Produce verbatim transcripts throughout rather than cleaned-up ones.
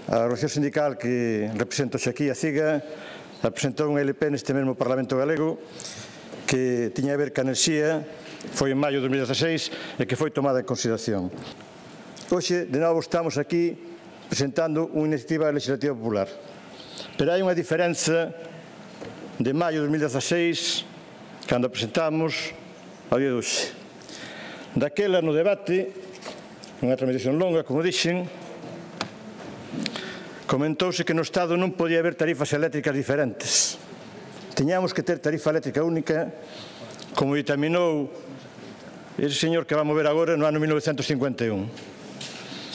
A Organización Sindical que represento aquí, a CIGA, presentou un L P neste mesmo Parlamento Galego que tiña a ver ca enerxía, foi en maio de dos mil dieciséis e que foi tomada en consideración. Hoxe, de novo, estamos aquí presentando unha iniciativa legislativa popular. Pero hai unha diferenza de maio de dos mil dieciséis, cando a presentamos, ao día de hoxe. Daquela, no debate, unha tramitación longa, como dixen, comentouse que no Estado non podía haber tarifas eléctricas diferentes. Tiñamos que ter tarifa eléctrica única, como ditaminou ese señor que vamos ver agora no ano mil novecentos cincuenta e un.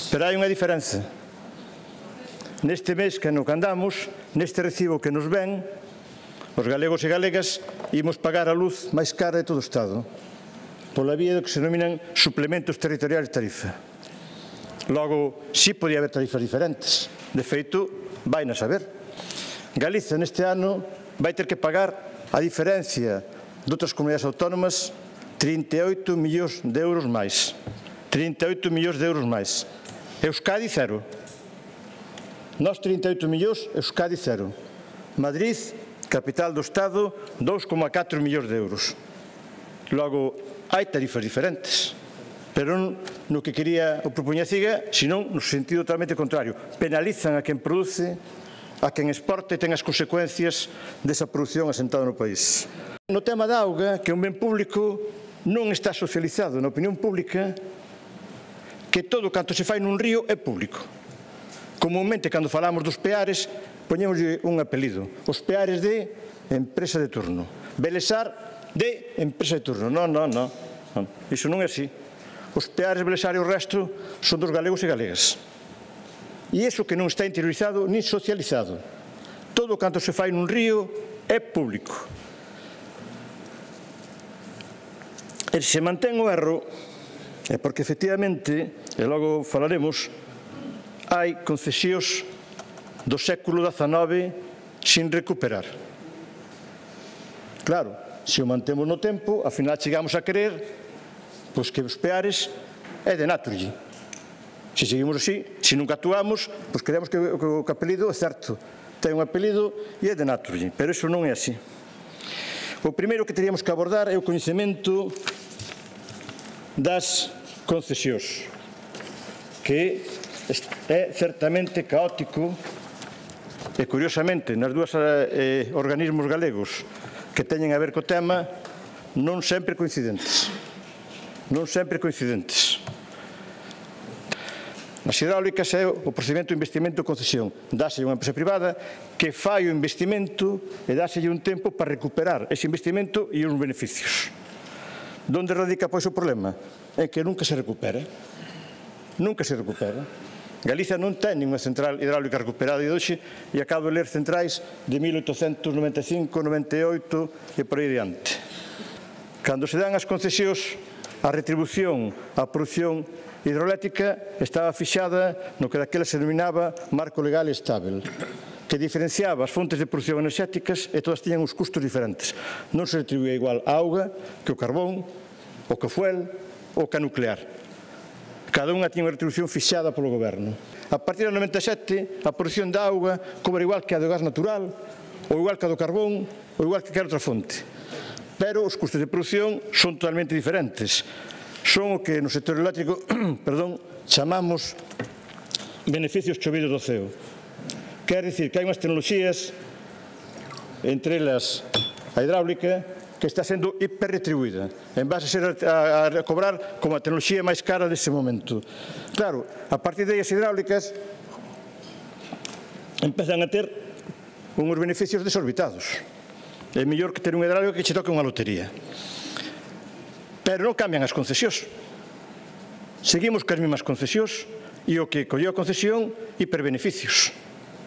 Pero hai unha diferenza. Neste mes que no que andamos, neste recibo que nos ven, os galegos e galegas imos pagar a luz máis cara de todo o Estado, pola vía do que se denominan suplementos territoriais de tarifa. Logo, si podía haber tarifas diferentes. De feito, vai na saber. Galicia neste ano vai ter que pagar a diferencia de outras comunidades autónomas trinta e oito millóns de euros máis. trinta e oito millóns de euros máis. Euskadi, cero. Nós, trinta e oito millóns, Euskadi, cero. Madrid, capital do Estado, dous coma catro millóns de euros. Logo, hai tarifas diferentes. Pero non no que quería o propoñer CIGA, senón no sentido totalmente contrario. Penalizan a quen produce, a quen exporta e ten as consecuencias desa produción asentada no país. No tema da auga, que é un ben público, non está socializado na opinión pública que todo canto se fai nun río é público. Comunmente, cando falamos dos peares, poñémoslle un apelido. Os peares de empresa de turno. Belesar de empresa de turno. Non, non, non. Iso non é así. Os peares, Belesar e o resto son dos galegos e galegas. E iso que non está interiorizado nin socializado. Todo canto se fai nun río é público. E se mantén o erro, é porque efectivamente, e logo falaremos, hai concesións do século dezanove sin recuperar. Claro, se o mantemos no tempo, ao final chegamos a querer pois que os peares é de Naturgy. Se seguimos así, se nunca actuamos, pois creemos que o apelido é certo. Ten un apelido e é de Naturgy, pero iso non é así. O primeiro que teríamos que abordar é o coñecemento das concesións, que é certamente caótico e, curiosamente, nas dúas eh, organismos galegos que teñen a ver co tema, non sempre coincidentes. Non sempre coincidentes. Nas hidráulicas é o procedimento de investimento e concesión. Dáselle unha empresa privada que fai o investimento e dáselle un tempo para recuperar ese investimento e os beneficios. Donde radica, pois, o problema? É que nunca se recupera. Nunca se recupera. Galicia non ten ninguna central hidráulica recuperada de hoxe e acabo de ler centrais de mil oitocentos noventa e cinco, noventa e oito e por aí diante. Cando se dan as concesións, a retribución á produción hidroeléctrica estaba fixada no que daquela se denominaba marco legal estável, que diferenciaba as fontes de produción enerxéticas e todas tiñan uns custos diferentes. Non se retribuía igual a auga que o carbón, o que o fuel ou que a nuclear. Cada unha tiña unha retribución fixada polo goberno. A partir do noventa e sete, a produción da auga cobra igual que a do gas natural, ou igual que a do carbón, ou igual que calquera outra fonte. Pero os custos de produción son totalmente diferentes. Son o que no sector eléctrico perdón, chamamos beneficios chovidos do ceo. Quer dicir que hai unhas tecnoloxías, entre elas a hidráulica, que está sendo hiperretribuída, en base a, ser a, a cobrar como a tecnoloxía máis cara dese momento. Claro, a partir de as hidráulicas empezan a ter unhos beneficios desorbitados. É mellor que ter unha hidráulica que che toque unha lotería. Pero non cambian as concesións. Seguimos cas mesmas concesións e o que colleu a concesión, hiperbeneficios.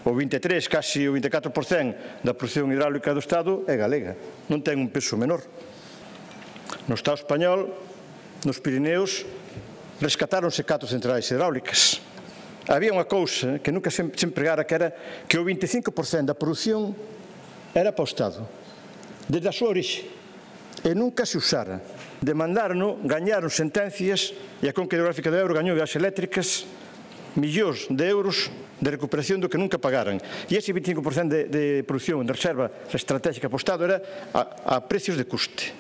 O vinte e tres, casi o vinte e catro por cento da produción hidráulica do Estado é galega. Non ten un peso menor. No Estado español, nos Pirineos, rescatáronse catro centrais hidráulicas. Había unha cousa que nunca se empregara, que era que o vinte e cinco por cento da produción era para o Estado. Desde a súa orixe, e nunca se usara. Demandaron, gañaron sentencias, e a Conca Hidrográfica do Ebro gañou as eléctricas millóns de euros de recuperación do que nunca pagaran. E ese vinte e cinco por cento de, de produción de reserva estratégica para o Estado era a, a precios de custe.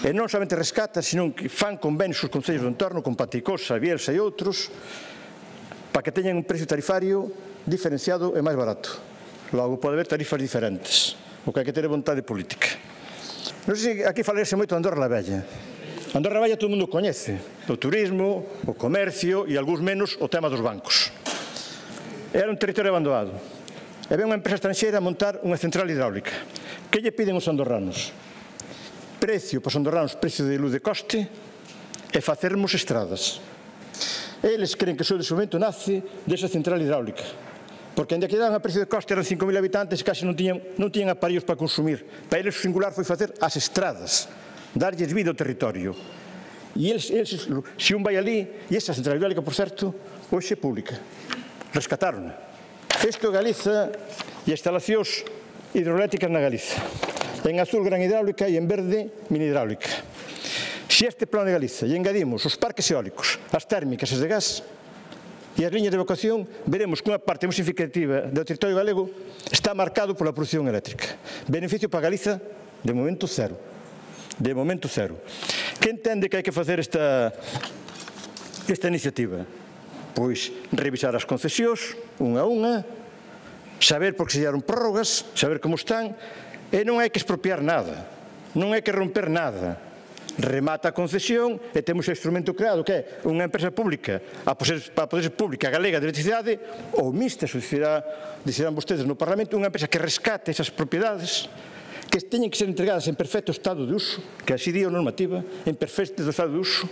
E non somente rescata, sino que fan convenios os concellos do entorno, con Panticosa, Bielsa e outros, para que teñan un precio tarifario diferenciado e máis barato. Logo, pode haber tarifas diferentes, o que hai que ter vontade política. Non sei se aquí falarse moito de Andorra la Vella. Andorra la Vella todo o mundo coñece, o turismo, o comercio e, algúns menos, o tema dos bancos. Era un territorio abandonado. E ven unha empresa estranxeira a montar unha central hidráulica. Que lle piden os andorranos? Precio para os andorranos, precio de luz de coste, e facermos estradas. Eles creen que o seu desenvolvemento nace desa central hidráulica, porque ainda que daban a precio de coste eran cinco mil habitantes e casi non tiñan, non tiñan aparellos para consumir. Para eles o singular foi facer as estradas, darlles vida ao territorio. E eles, eles, se un vai ali, e esa central hidráulica, por certo, hoxe é pública. Rescataron. Isto é Galiza e instalacións hidroeléctricas na Galiza. En azul, gran hidráulica, e en verde, mini hidráulica. Se este plano de Galiza e engadimos os parques eólicos, as térmicas, as de gas e as liñas de evacuación, veremos que unha parte moi significativa do territorio galego está marcado pola produción eléctrica. Beneficio para Galiza, de momento, cero. De momento, cero. Que entende que hai que facer esta, esta iniciativa? Pois revisar as concesións, unha a unha, saber por que se dieron prórrogas, saber como están. E non hai que expropiar nada, non hai que romper nada. Remata a concesión e temos o instrumento creado que é unha empresa pública, para poder ser pública galega de electricidade, ou mixta, decidirán vostedes no Parlamento, unha empresa que rescate esas propiedades que teñen que ser entregadas en perfecto estado de uso, que así di a normativa, en perfecto estado de uso,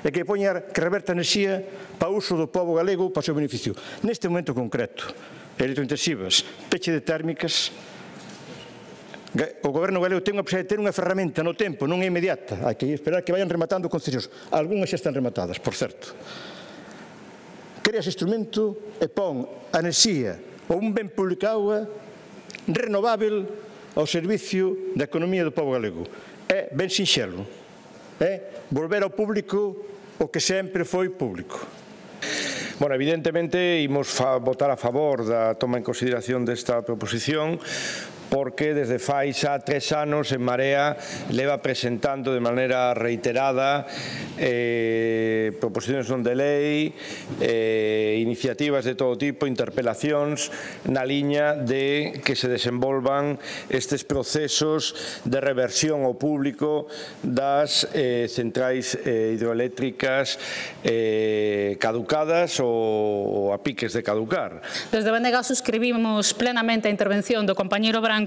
e que poña, que reverta enerxía para o uso do pobo galego para o seu beneficio. Neste momento concreto, electrointensivas, peche de térmicas. O goberno galego ten unha posibilidade de ter unha ferramenta no tempo, non é inmediata. Hai que esperar que vayan rematando concesións. Algúnas xa están rematadas, por certo. Crea ese instrumento e pon a enerxía ou un ben público auga renovável ao servicio da economía do pobo galego. É ben sinxelo. É volver ao público o que sempre foi público. Bueno, evidentemente, imos votar a favor da toma en consideración desta proposición, porque desde fai xa tres anos en Marea leva presentando de maneira reiterada eh, proposicións non de lei, eh, iniciativas de todo tipo, interpelacións na liña de que se desenvolvan estes procesos de reversión ao público das eh, centrais eh, hidroeléctricas eh, caducadas ou a piques de caducar. Desde Benega suscribimos plenamente a intervención do compañeiro Branco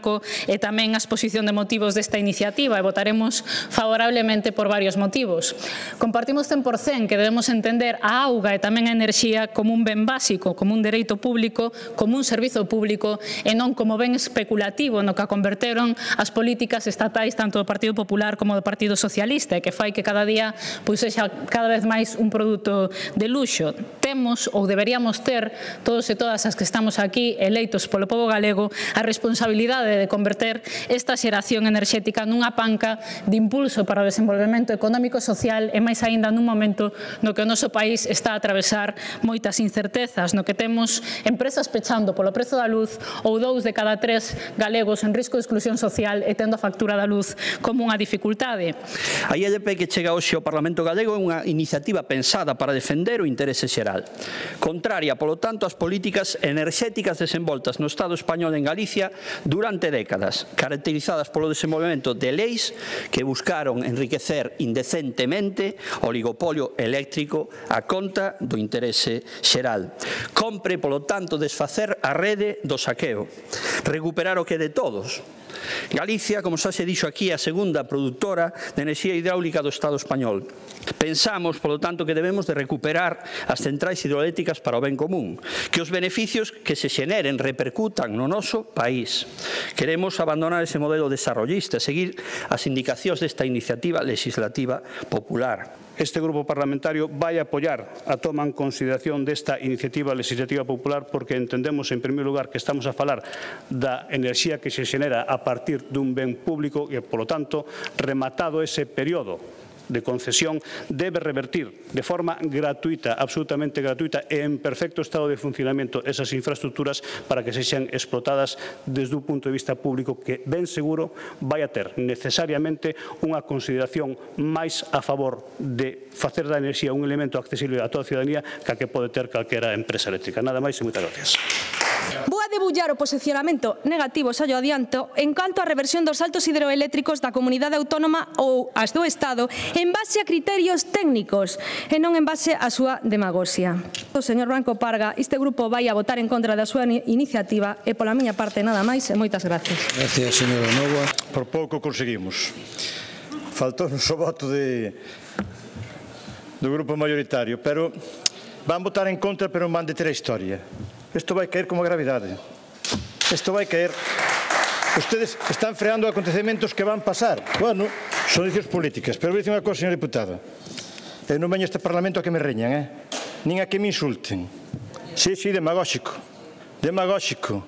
e tamén a exposición de motivos desta iniciativa e votaremos favorablemente por varios motivos. Compartimos cen por cento que debemos entender a auga e tamén a enerxía como un ben básico, como un dereito público, como un servizo público e non como ben especulativo no que a converteron as políticas estatais tanto do Partido Popular como do Partido Socialista e que fai que cada día pois sexa cada vez máis un produto de luxo. Temos ou deberíamos ter todos e todas as que estamos aquí eleitos polo pobo galego a responsabilidade de converter esta xeración enerxética nunha panca de impulso para o desenvolvemento económico e social e máis aínda nun momento no que o noso país está a atravesar moitas incertezas, no que temos empresas pechando polo prezo da luz ou dous de cada tres galegos en risco de exclusión social e tendo a factura da luz como unha dificultade. A I L P que chega hoxe ao Parlamento galego é unha iniciativa pensada para defender o interese xeral. Contraria, polo tanto, ás políticas enerxéticas desenvoltas no Estado español en Galicia durante décadas, caracterizadas polo desenvolvemento de leis que buscaron enriquecer indecentemente o oligopolio eléctrico a conta do interese xeral. Compre, polo tanto, desfacer a rede do saqueo, recuperar o que é de todos. Galicia, como xa se dixo aquí, é a segunda produtora de enerxía hidráulica do Estado español. Pensamos, polo tanto, que debemos de recuperar as centrais hidroeléctricas para o ben común, que os beneficios que se xeneren repercutan no noso país. Queremos abandonar ese modelo desarrollista e seguir as indicacións desta iniciativa legislativa popular. Este grupo parlamentario vai apoiar a toma en consideración desta iniciativa legislativa popular porque entendemos, en primeiro lugar, que estamos a falar da enerxía que se xenera a partir dun ben público e, polo tanto, rematado ese período de concesión debe revertir de forma gratuita, absolutamente gratuita e en perfecto estado de funcionamento esas infraestructuras para que sexan explotadas desde un punto de vista público que, ben seguro, vai a ter necesariamente unha consideración máis a favor de facer da enerxía un elemento accesible a toda a ciudadanía que a que pode ter calquera empresa eléctrica. Nada máis e moitas gracias. Vou a debullar o posicionamento negativo, xa yo adianto, en canto á reversión dos saltos hidroeléctricos da comunidade autónoma ou as do Estado en base a criterios técnicos e non en base á súa demagoxia. O señor Branco Parga, este grupo vai a votar en contra da súa iniciativa e pola miña parte nada máis e moitas gracias. Gracias, señora Nova. Por pouco conseguimos. Faltou-nos o voto de, do grupo mayoritario, pero van votar en contra, pero non van deter a historia. Isto vai caer como gravidade. Isto vai caer. Ustedes están freando acontecementos que van pasar. Bueno, son decisiones políticas. Pero vou dicir unha cosa, señor diputado. Eu non veño a este Parlamento a que me reñan, eh? Nin a que me insulten. Sí, sí, demagóxico. Demagóxico.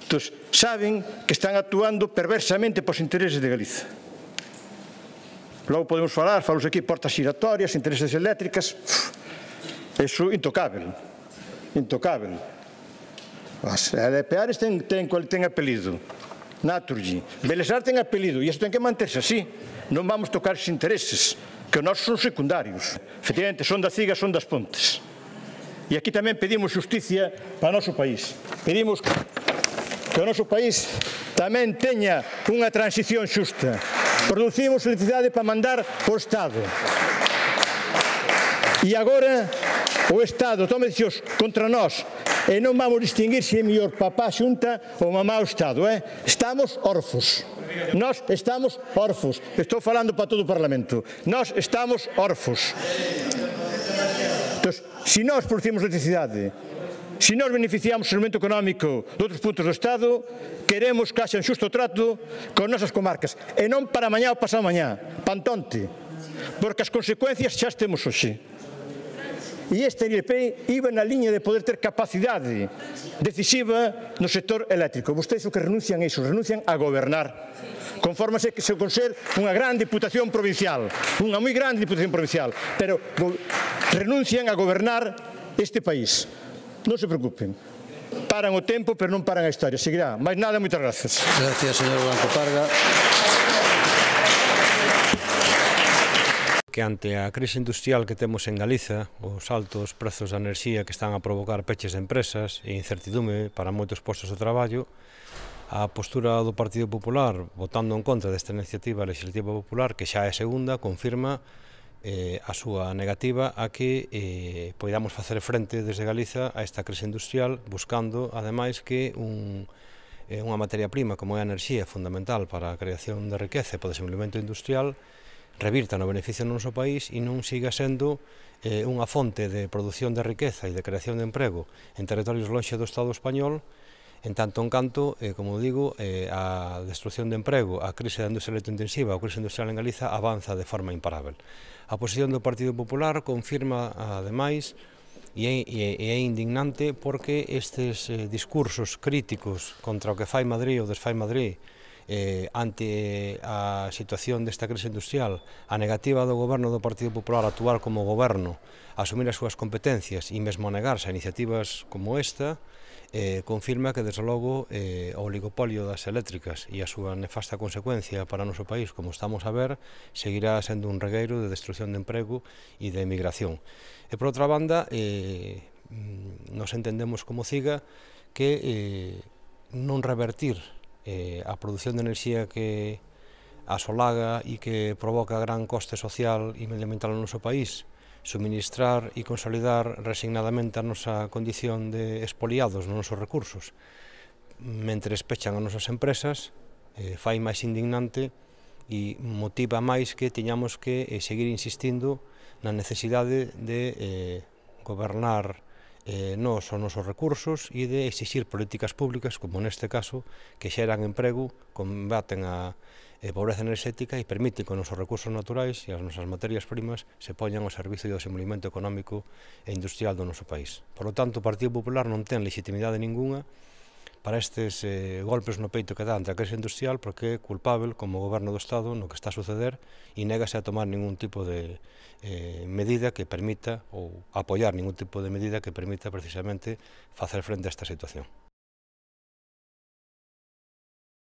Entón, saben que están actuando perversamente pos intereses de Galiza. Logo podemos falar, falos aquí, portas giratorias, intereses eléctricas. Eso intocável. Intocável. As Elepeares ten, ten, ten apelido, Naturgy, Belesar ten apelido, e isto ten que manterse así. Non vamos tocar os intereses, que os nosos son secundarios. Efectivamente, son da Ciga, son das Pontes. E aquí tamén pedimos justicia para o noso país. Pedimos que o noso país tamén teña unha transición xusta. Producimos electricidade para mandar ao Estado. E agora o Estado toma decisións contra nós e non vamos distinguir se é mellor papá xunta ou mamá o Estado. Eh? Estamos orfos. Nós estamos orfos. Estou falando para todo o Parlamento. Nós estamos orfos. Entón, se nós producimos electricidade, se nós beneficiamos o instrumento económico de outros puntos do Estado, queremos que haxa un xusto trato con nosas comarcas. E non para mañá ou pasado mañá. Pantonte. Porque as consecuencias xa as temos hoxe. E esta I L P iba na liña de poder ter capacidade decisiva no sector eléctrico. Vostedes o que renuncian a iso, renuncian a gobernar. Confórmase que se con ser unha gran diputación provincial, unha moi grande diputación provincial, pero renuncian a gobernar este país. Non se preocupen. Paran o tempo, pero non paran a historia. Seguirá. Mais nada, moitas gracias. Gracias, señor Branco Parga. Que ante a crise industrial que temos en Galiza, os altos prezos da enerxía que están a provocar peches de empresas e incertidume para moitos postos de traballo, a postura do Partido Popular, votando en contra desta iniciativa legislativa popular, que xa é segunda, confirma eh, a súa negativa a que eh, poidamos facer frente desde Galiza a esta crise industrial, buscando, ademais, que un, eh, unha materia prima como é a enerxía fundamental para a creación de riqueza e para o desenvolvemento industrial revirta no beneficio do noso país e non siga sendo eh, unha fonte de produción de riqueza e de creación de emprego en territorios lonxe do Estado español, en tanto en canto, eh, como digo, eh, a destrucción de emprego, a crise da industria electrointensiva, a crise industrial en Galiza avanza de forma imparável. A posición do Partido Popular confirma, ademais, e é, e é indignante porque estes eh, discursos críticos contra o que fai Madrid ou desfai Madrid Eh, ante a situación desta crise industrial, a negativa do goberno do Partido Popular a actuar como goberno, a asumir as súas competencias e mesmo a negarse a iniciativas como esta, eh, confirma que, desde logo, eh, o oligopolio das eléctricas e a súa nefasta consecuencia para o noso país, como estamos a ver, seguirá sendo un regueiro de destrucción de emprego e de emigración. E, por outra banda, eh, nos entendemos como Ciga que eh, non revertir Eh, a produción de enerxía que asolaga e que provoca gran coste social e medioambiental no noso país, suministrar e consolidar resignadamente a nosa condición de expoliados nos nosos recursos, mentre pechan as nosas empresas, eh, fai máis indignante e motiva máis que teñamos que eh, seguir insistindo na necesidade de eh, gobernar Eh, nos os nosos recursos e de exixir políticas públicas, como neste caso, que xeran emprego, combaten a eh, pobreza enerxética e permiten que os nosos recursos naturais e as nosas materias primas se poñan ao servicio do desenvolvemento económico e industrial do noso país. Por lo tanto, o Partido Popular non ten legitimidade ninguna para estes eh, golpes no peito que dá ante a crise industrial, porque é culpável como goberno do Estado no que está a suceder e négase a tomar ningún tipo de eh, medida que permita ou apoiar ningún tipo de medida que permita precisamente facer frente a esta situación.